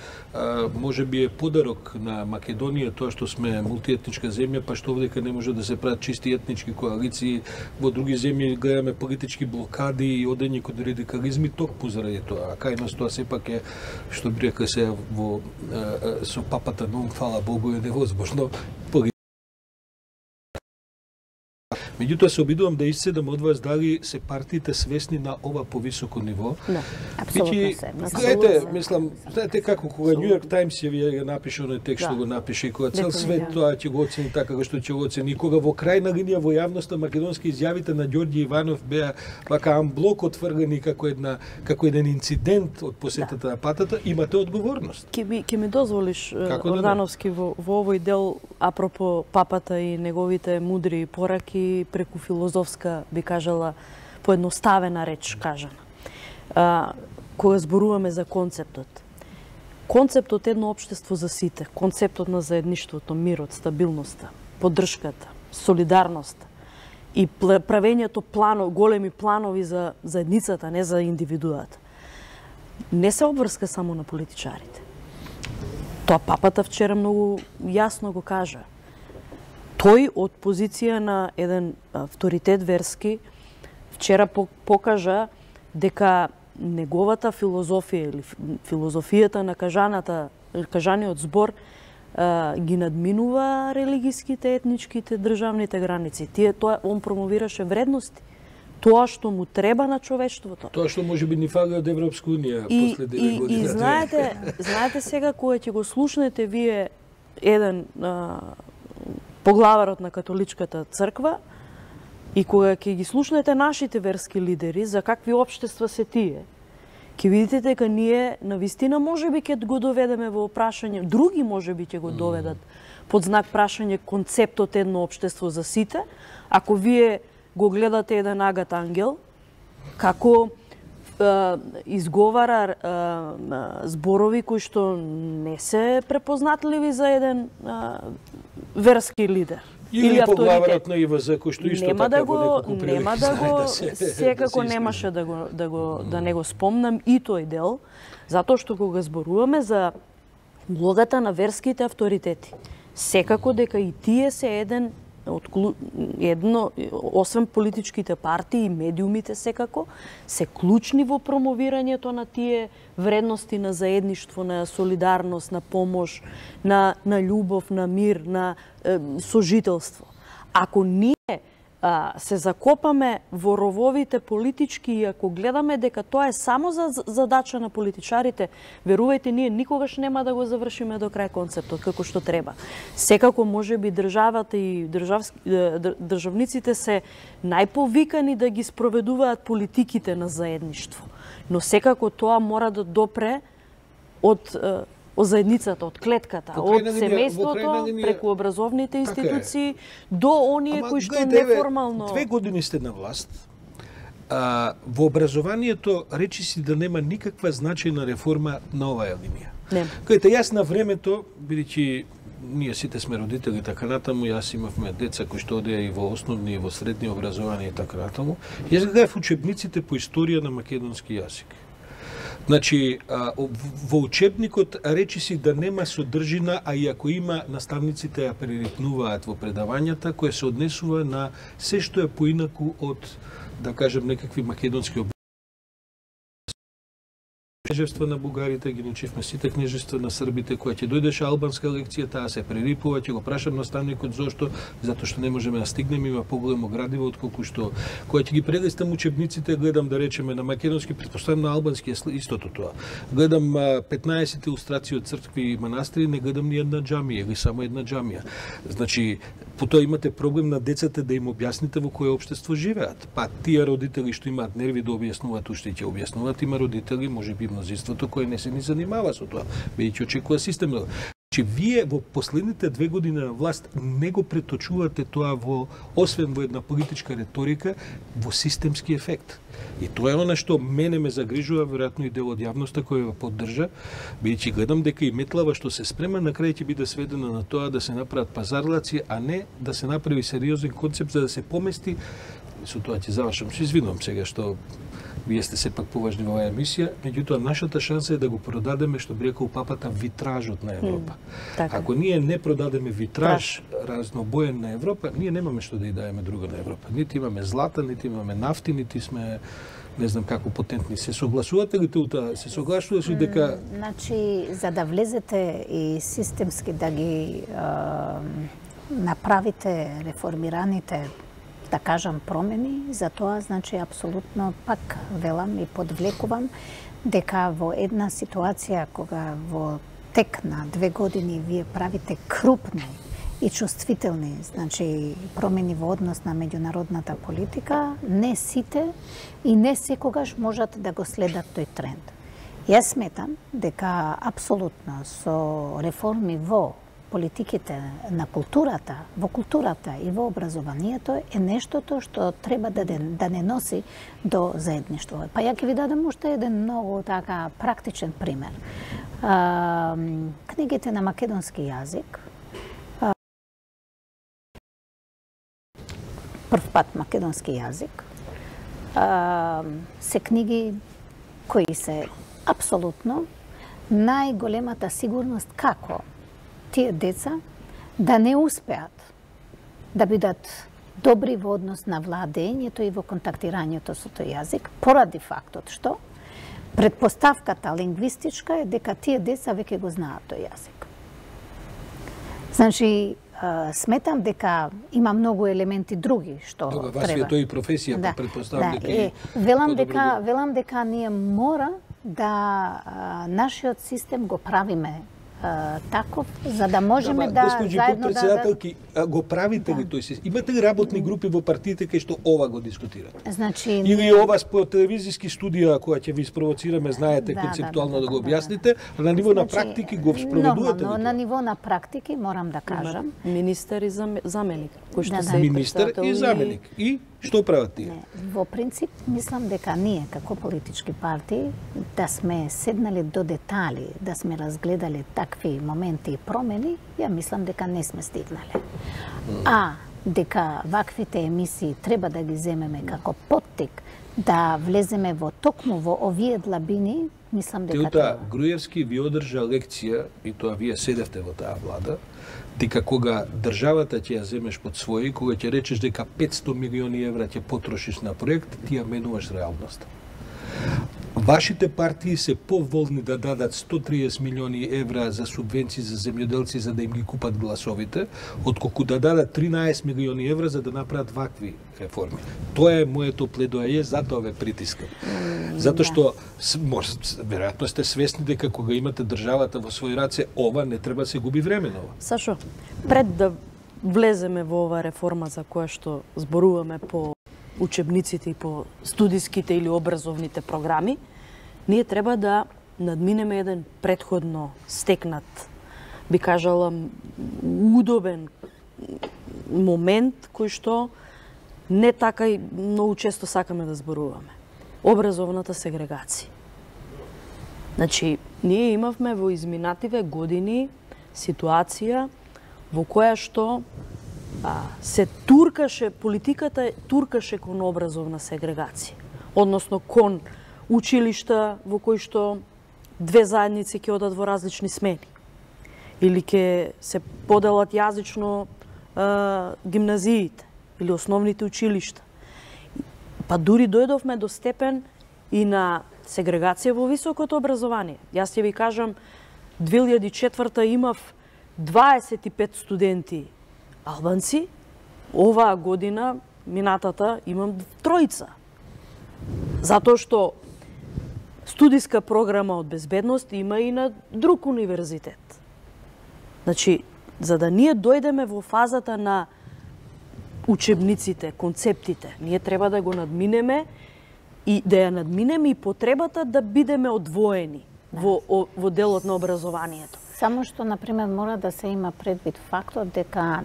може би е подарок на Македонија тоа што сме мултиетничка земја, па што овдека не може да се прават чисти етнички коалиции, во други земји гледаме политички блокади и одење кон радикализми токму заради тоа. А кај нас тоа сепак е, што би рекла се во е, со папата нон, фала Богу, е невозможно. Меѓутоа се обидувам да исцедам од вас дали се партиите свесни на ова повисоко ниво. Да, апсолутно се. Гледате, мислам, знаете како кога New York Times ја ви напише оној текст што го напише и кога цел свет тоа ќе го оцени така што ќе го оцени, кога во крајна линија во јавноста македонски изјавите на Ѓорѓи Иванов беа вака амблок отвргани како една како еден инцидент од посетата да. на патата, имате одговорност. Ке ми ке ми дозволиш Ордановски во, во овој дел апропо папата и неговите мудри пораки преку филозофска, би кажала, поедноставена реч кажана. А, кога зборуваме за концептот. Концептот е едно општество за сите, концептот на заедништвото, мирот, стабилноста, поддршката, солидарноста и правењето плано, големи планови за заедницата, не за индивидуата. Не се обврска само на политичарите. Тоа папата вчера многу јасно го кажа. Тој од позиција на еден авторитет верски вчера покажа дека неговата филозофија или филозофијата на кажаната, кажаниот збор ги надминува религиските, етничките, државните граници. Тие тоа он промовираше вредности. Тоа што му треба на човештвото. Тоа што може би ни фали од Европска унија после девет години. И знаете, знаете сега кога ќе го слушнете вие еден а, поглаварот на католичката црква, И кога ќе ги слушнете нашите верски лидери за какви општества се тие, ќе видите дека ние навистина можеби ќе го доведеме во прашање, други можеби ќе го доведат под знак прашање концептот едно општество за сите, ако вие го гледате еден Агат Ангел, како е, изговара е, зборови кои што не се препознатливи за еден е, верски лидер. Или, или поглаварот на И В З кој што исто нема така да го, во неколку прилики нема да го, да се, секако да се немаше да го да го да не го спомнам и тој дел, затоа што кога зборуваме за улогата на верските авторитети, секако дека и тие се еден од едно, освен политичките партии и медиумите секако, се клучни во промовирањето на тие вредности на заедништво, на солидарност, на помош, на, на љубов, на мир, на е, сожителство. Ако ние а, се закопаме во рововите политички и ако гледаме дека тоа е само за задача на политичарите, верувајте, ние никогаш нема да го завршиме до крај концептот како што треба. Секако можеби државата и државски, државниците се најповикани да ги спроведуваат политиките на заедништво, но секако тоа мора да допре од од заедницата, од клетката, од семејството, преку образовните институции, до оние кои што неформално... Две години сте на власт, а, во образованието речиси да нема никаква значајна реформа на оваа линија. Нема. Кајте јас на времето, бидејќи ние сите сме родители така натаму, јас имавме деца кои што одеа и во основни и во средни образование и така натаму, јас гледав учебниците по историја на македонски јазик. Значи, во учебникот речиси да нема содржина, а и ако има, наставниците ја прерипнуваат во предавањата, која се однесува на се што е поинаку од, да кажем, некакви македонски обичаи. Кнежевства на бугарите, ги научивме сите кнежевства на србите, која ќе дојдеше албанска лекција, таа се прерипува, ќе го прашам наставникот зошто, затоа што не можеме да стигнеме, има поголемо градиво отколку што, која ќе ги прелистам учебниците, гледам да речеме на македонски, претпоставам на албански е истото тоа. Гледам петнаесет илустрации од цркви и манастири, не гледам ни една џамија или само една џамија. Значи, потоа имате проблем на децата да им објасните во кое општество живеат. Па тие родители што имаат нерви да објаснуваат, уште ќе објаснуваат, има родители, можеби мнозинството кој не се ни занимава со тоа, бидејќи очекува системно. Че вие во последните две години на власт не го преточувате тоа во, освен во една политичка реторика, во системски ефект. И тоа е она што мене ме загрижува, веројатно и дел од јавноста која го поддржа, бидејќи гледам дека и метлава што се спрема на крај ќе биде сведена на тоа да се направат пазарлаци, а не да се направи сериозен концепт за да се помести. Со тоа ќе завршам, се извинувам сега што вие сте сепак поважни во оваа емисија, меѓутоа нашата шанса е да го продадеме, што би рекол папата, витражот на Европа. Mm, така. Ако ние не продадеме витраж разнобоен на Европа, ние немаме што да ја даеме друго на Европа. Нити имаме злата, нити имаме нафти, нити сме не знам како потентни. Се согласувате ли тута? Се согласуваш ли дека... Значи, за да влезете и системски да ги е, направите реформираните, да кажам, промени, за тоа, значи, апсолутно пак велам и подвлекувам дека во една ситуација кога во тек на две години вие правите крупни и чувствителни, значи, промени во однос на меѓународната политика, не сите и не секогаш можат да го следат тој тренд. Јас сметам дека апсолутно со реформи во политиките на културата, во културата и во образованието е нештото што треба да, да не носи до заедништво. Па ја ќе ви дадам уште еден многу така практичен пример. А, книгите на македонски јазик, а, прв пат македонски јазик, а, се книги кои се апсолутно најголемата сигурност како тие деца да не успеат да бидат добри во однос на владењето и во контактирањето со тој јазик, поради фактот што предпоставката лингвистичка е дека тие деца веќе го знаат тој јазик. Значи, сметам дека има многу елементи други што Добре, треба. вас ви е тој и професија, да, предпоставам да, дека е, велам дека велам дека ние мора да а, нашиот систем го правиме таков, за да можеме да, да госпожи заедно подпредседателки, да, го правите ли тој се? Имате ли работни групи во партиите кај што ова го дискутирате? Значи или ова по телевизиски студија која ќе ви спровоцираме, знаете да, концептуално да, да, да, да го да, објасните, а на ниво значи, на практики го спроведувате ли? На ниво на практики морам да кажам. Министер и заменик, кој што Да, се да. Министер и заменик. И што прават тие? Не, во принцип, мислам дека ние, како политички партии, да сме седнали до детали, да сме разгледали такви моменти и промени, ја мислам дека не сме стигнале. А дека ваквите емисии треба да ги земеме како поттик, да влеземе во токму во овие длабини, мислам дека Теута треба. Груевски ви одржа лекција, и тоа вие седевте во таа влада, дека кога државата ќе ја земеш под своји, кога ќе речеш дека петсто милиони евра ќе потрошиш на проект, ти ја менуваш реалноста. Вашите партии се поволни да дадат сто и триесет милиони евра за субвенции за земјоделци за да им ги купат гласовите, отколку да дадат тринаесет милиони евра за да направат вакви реформи. Тоа е моето пледоаје, затоа ве притискам. Затоа што може веројатно сте свесни дека кога имате државата во своји раце, ова не треба да се губи време на ова. Сашо, пред да влеземе во ова реформа за која што зборуваме по учебниците и по студиските или образовните програми, ние треба да надминеме еден претходно стекнат, би кажала, удобен момент кој што не така и многу често сакаме да зборуваме. Образовната сегрегација. Значи, ние имавме во изминативе години ситуација во која што а, се туркаше, политиката туркаше кон образовна сегрегација. Односно кон училишта во кои што две заедници ќе одат во различни смени. Или ќе се поделат јазично а, гимназиите или основните училишта. Па дури дојдовме до степен и на сегрегација во високото образование. Јас ќе ви кажам, две илјади и четврта имав дваесет и пет студенти албанци, оваа година, минатата, имам тројца. Затоа што студиска програма од безбедност има и на друг универзитет. Значи, за да ние дојдеме во фазата на учебниците, концептите, ние треба да го надминеме и да ја надминеме и потребата да бидеме одвоени да. во, во делот на образованието. Само што, например, мора да се има предвид фактот дека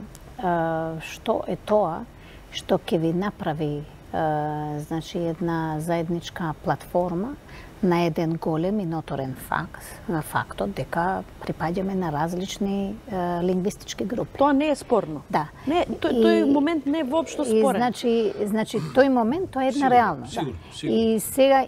што е тоа што ќе ви направи значи една заедничка платформа на еден голем и ноторен факт, на фактот дека припаѓаме на различни е, лингвистички групи. Тоа не е спорно. Да. Не, тој, тој момент не е воопшто спорен. И, значи, значи тој момент тоа е една сигурно, реалност. Сигурно, да. сигурно. И сега,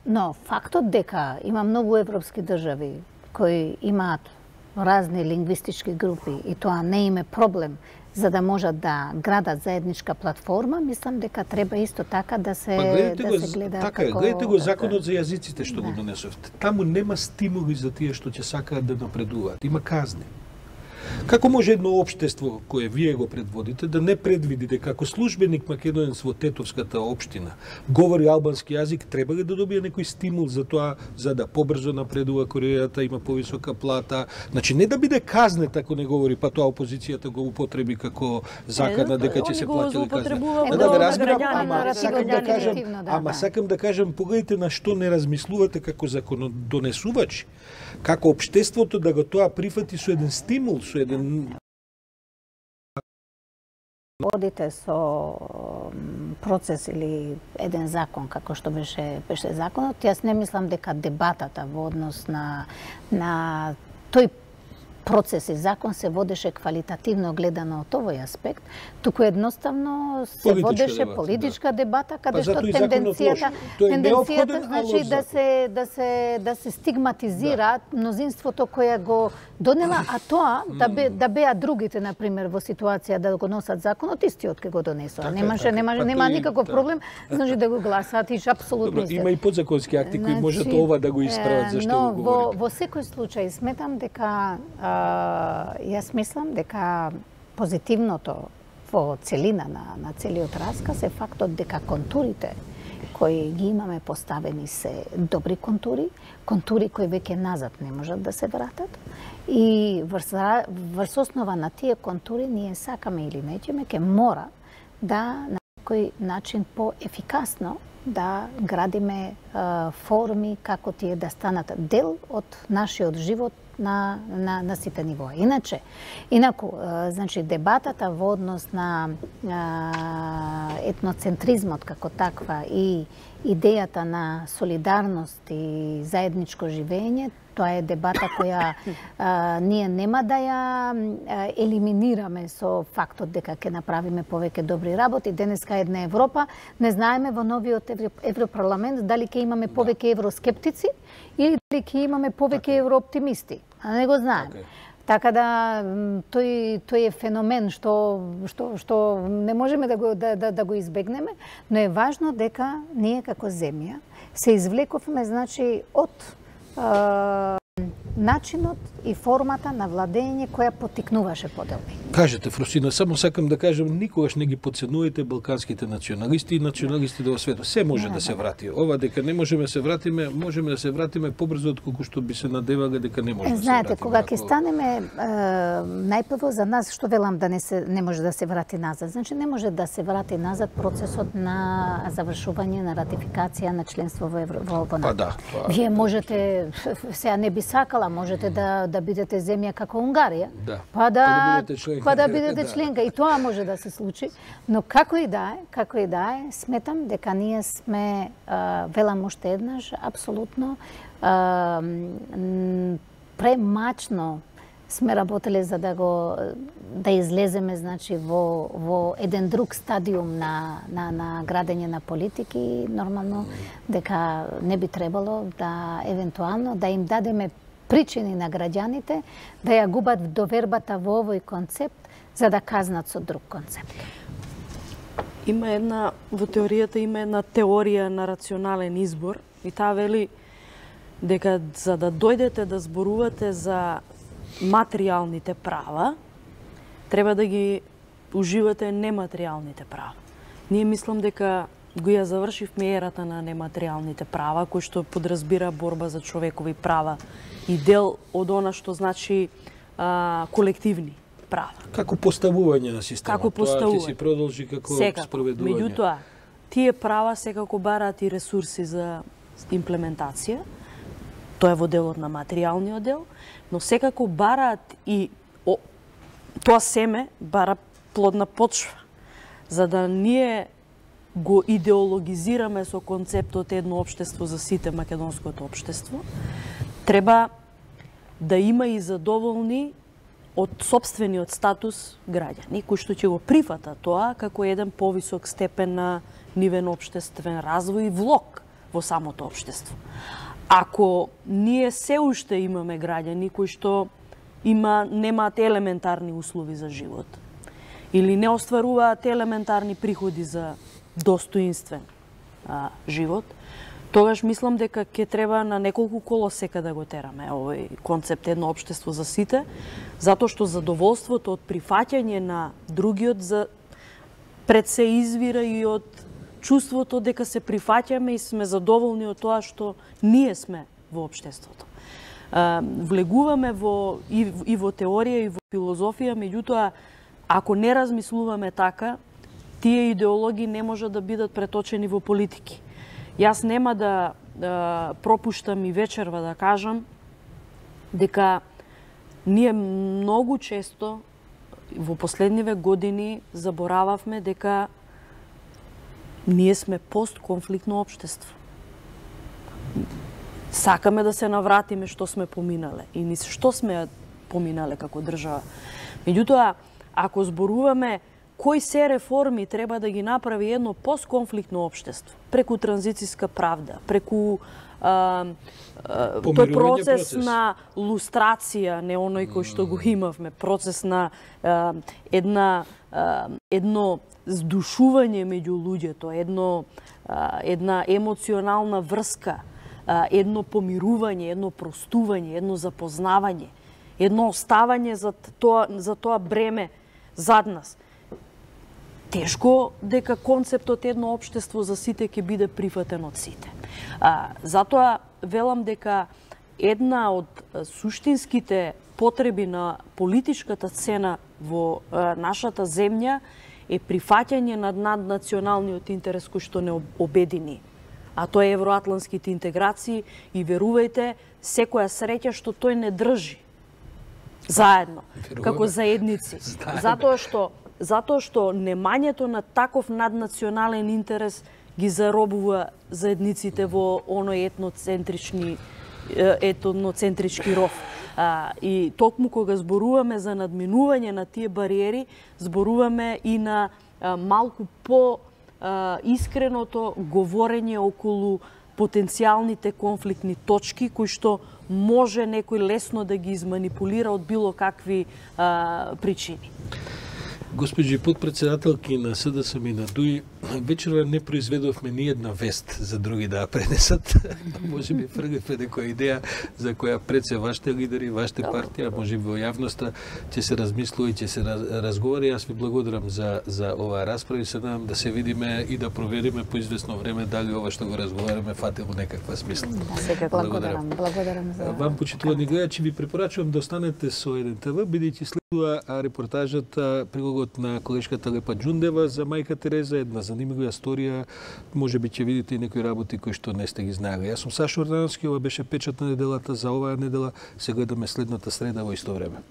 но фактот дека има многу европски држави кои имаат разни лингвистички групи и тоа не им е проблем за да можат да градат заедничка платформа, мислам дека треба исто така да се, па, да го, се гледа така како... Е, гледате го законот за јазиците што да. го донесовте. Таму нема стимули за тие што ќе сакаат да напредуваат. Има казни. Како може едно општество кое вие го предводите да не предвиди дека како службеник македонец во Тетовската општина говори албански јазик, треба ли да добие некој стимул за тоа, за да побрзо напредува кариерата, има повисока плата? Значи не да биде казнет ако не говори, па тоа опозицијата го употреби како закана дека ќе се платили казна. Е, Да, да, да, разбирам, граѓани, ама наративно, сакам да кажам, негативно, да, ама да. сакам да кажам, погледнете на што не размислувате како законодонесувачи, како општеството да го тоа прифати со еден стимул, со еден Водите со процес или еден закон, како што беше, беше законот, јас не мислам дека дебатата во однос на, на тој процес и закон се водеше квалитативно гледано од овој аспект, туку едноставно се Политичка водеше дебата, политичка да. дебата, каде Па, што затоа и законот тенденцијата, лош. Тој е тенденцијата неопходен, а значи лош да закон. се да се да се стигматизира да. мнозинството кое го донела, а тоа да бе да беа другите на пример во ситуација да го носат законот истиот ке го донесува. Така, Немаше така. нема Па нема тој- никаков да. проблем, значи да го гласаат и апсолутно Добро, има и подзаконски акти кои можат ова да го исправат зашто но го во, говорите. во секој случај сметам дека а, јас мислам дека позитивното во целина на, на целиот расказ е фактот дека контурите кои ги имаме поставени се добри контури, контури кои веќе назад не можат да се вратат. И врз, врз основа на тие контури ние сакаме или неќеме ке мора да на некој начин поефикасно да градиме е, форми како тие да станат дел од нашиот живот на, на, на сите нивоа. Иначе, инаку, е, значи, дебатата во однос на е, етноцентризмот како таква и идејата на солидарност и заедничко живење, тоа е дебата која а, ние нема да ја а, елиминираме со фактот дека ќе направиме повеќе добри работи. Денеска една Европа, не знаеме во новиот Европарламент дали ќе имаме повеќе евроскептици или дали ќе имаме повеќе еврооптимисти. А не го знаеме. Okay. Така да тој тој е феномен што што што не можеме да го да, да, да го избегнеме, но е важно дека ние како земја се извлековме значи од начинот и формата на владење која поттикнуваше поделби. Кажете, Фросина, само сакам да кажам, никогаш не ги подценувате балканските националисти и националистите во светот. Се може не, да се врати. Ова дека не можеме да се вратиме, можеме да се вратиме побрзо отколку што би се надевале дека не може да се вратиме. Знаете, кога ќе станеме најпрво за нас, што велам да не се не може да се врати назад. Значи не може да се врати назад процесот на завршување на ратификација на членство во Евро во НАТО. Па да. Па, Вие можете сега не би сакала, можете да да бидете земја како Унгарија. Да. Па да, па да бидете членка. Па да бидете членка и тоа може да се случи, но како и да е, како и да е, сметам дека ние сме а, велам уште еднаш апсолутно а, премачно сме работеле за да го да излеземе значи во во еден друг стадиум на на на градење на политики, нормално дека не би требало да евентуално да им дадеме причини на граѓаните да ја губат довербата во овој концепт за да казнат со друг концепт. Има една во теоријата има една теорија на рационален избор и таа вели дека за да дојдете да зборувате за материјалните права, треба да ги уживате нематеријалните права. Ние мислам дека го ја завршивме ерата на нематеријалните права, кој што подразбира борба за човекови права и дел од она што значи а, колективни права. Како поставување на системот. Како поставување. Тоа ќе си продолжи како секако. спроведување. Меѓутоа, тие права секако бараат и ресурси за имплементација. Тоа е во делот на материјалниот дел, но секако бараат и о, тоа семе бара плодна почва, за да ние го идеологизираме со концептот едно општество за сите, македонското општество, треба да има и задоволни од сопствениот статус граѓани, кои што ќе го прифата тоа како еден повисок степен на нивен општествен развој и влог во самото општество. Ако ние се уште имаме граѓани кои што има немаат елементарни услови за живот или не остваруваат елементарни приходи за достоинствен а, живот, тогаш мислам дека ќе треба на неколку колосека да го тераме овој концепт едно општество за сите, затоа што задоволството од прифаќање на другиот за пред се извира и од чувството дека се прифаќаме и сме задоволни од тоа што ние сме во општеството. А, влегуваме во и, и во теорија и во филозофија, меѓутоа ако не размислуваме така, тие идеологии не можат да бидат преточени во политики. Јас нема да, да пропуштам и вечерва да кажам дека ние многу често во последниве години заборававме дека ние сме постконфликтно општество. Сакаме да се навратиме што сме поминале и низ што сме поминале како држава. Меѓутоа, ако зборуваме кои се реформи треба да ги направи едно постконфликтно општество, преку транзицијска правда, преку а, а, тој процес, процес на лустрација, не оној кој што го имавме, процес на а, една а, едно здушување меѓу луѓето, едно а, една емоционална врска, а, едно помирување, едно простување, едно запознавање, едно оставање за тоа за тоа бреме зад нас. тешко дека концептот едно општество за сите ќе биде прифатен од сите. А, затоа велам дека една од суштинските потреби на политичката сцена во а, нашата земја е прифаќање на наднационалниот интерес кој што не обедини. А тоа е евроатлантските интеграции и верувајте, секоја среќа што тој не држи заедно, Веруваме. како заедници. Знаеме. Затоа што затоа што немањето на таков наднационален интерес ги заробува заедниците во оној етноцентрични етноцентрички ров. А, и токму кога зборуваме за надминување на тие бариери, зборуваме и на а, малку по а, искреното говорење околу потенцијалните конфликтни точки кои што може некој лесно да ги изманипулира од било какви а, причини. Госпоđи подпредседателки на СДСМ и на ДУИ, вечерва не произведовме ни една вест за други да ја пренесат. Може би фргавме некоја идеја за која пред се вашите лидери, вашите партија, може би во јавноста ќе се размислува и ќе се разговари. Јас ви благодарам за за оваа расправа и се надам да се видиме и да провериме по известно време дали ова што го разговараме фати во некаква смисла. Да, секако благодарам. Благодарам за Вам почитувани гледачи ви препорачувам да останете со еден те ви, бидејќи следува репортажата, прилогот на колешката Лепа Џундева за мајка Тереза, една занимлива историја, може би ќе видите и некои работи кои што не сте ги знаеле. Јас сум Сашо Ордановски, ова беше печат на неделата за оваа недела. Се гледаме следната среда во исто време.